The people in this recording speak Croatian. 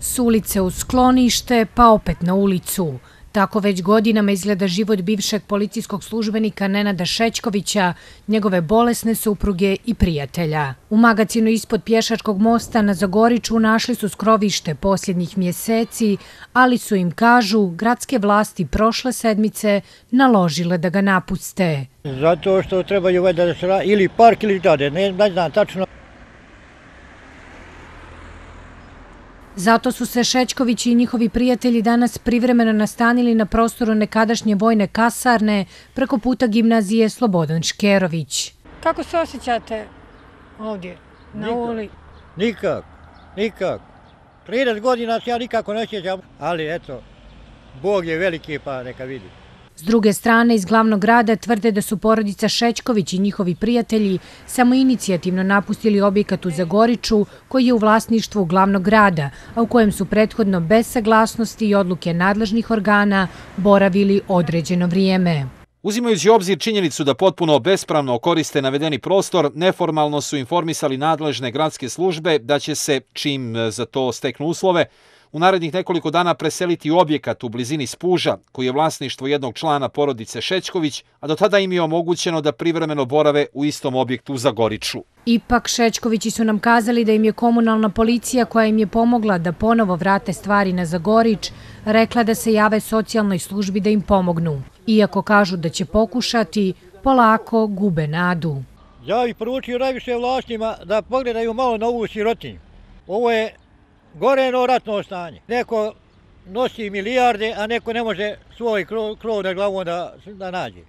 S ulice u sklonište, pa opet na ulicu. Tako već godinama izgleda život bivšeg policijskog službenika Nenada Šećkovića, njegove bolesne supruge i prijatelja. U magacinu ispod pješačkog mosta na Zagoriču našli su skrovište posljednjih mjeseci, ali su im, kažu, gradske vlasti prošle sedmice naložile da ga napuste. Zato što trebaju da se radi ili park ili grade, ne znam tačno. Zato su se Šećković i njihovi prijatelji danas privremeno nastanili na prostoru nekadašnje vojne kasarne preko puta gimnazije Slobodan Škerović. Kako se osjećate ovdje na uli? Nikak. 30 godina se ja nikako ne osjećam, ali eto, Bog je veliki pa neka vidi. S druge strane, iz glavnog grada tvrde da su porodica Šećković i njihovi prijatelji samoinicijativno napustili objekat u Zagoriču koji je u vlasništvu glavnog grada, a u kojem su prethodno bez saglasnosti i odluke nadležnih organa boravili određeno vrijeme. Uzimajući u obzir činjenicu da potpuno bespravno koriste navedeni prostor, neformalno su informisali nadležne gradske službe da će se, čim za to steknu uslove, u narednih nekoliko dana preseliti u objekat u blizini Spuža, koji je vlasništvo jednog člana porodice Šećković, a do tada im je omogućeno da privremeno borave u istom objektu u Zagoriču. Ipak Šećkovići su nam kazali da im je komunalna policija, koja im je pomogla da ponovo vrate stvari na Zagorič, rekla da se jave socijalnoj službi da im pomognu. Iako kažu da će pokušati, polako gube nadu. Ja bih poručio najviše vlastima da pogledaju malo na ovu sirotinju. Ovo je goreno ratno stanje. Neko nosi milijarde, a neko ne može svoj krov na glavu da nađe.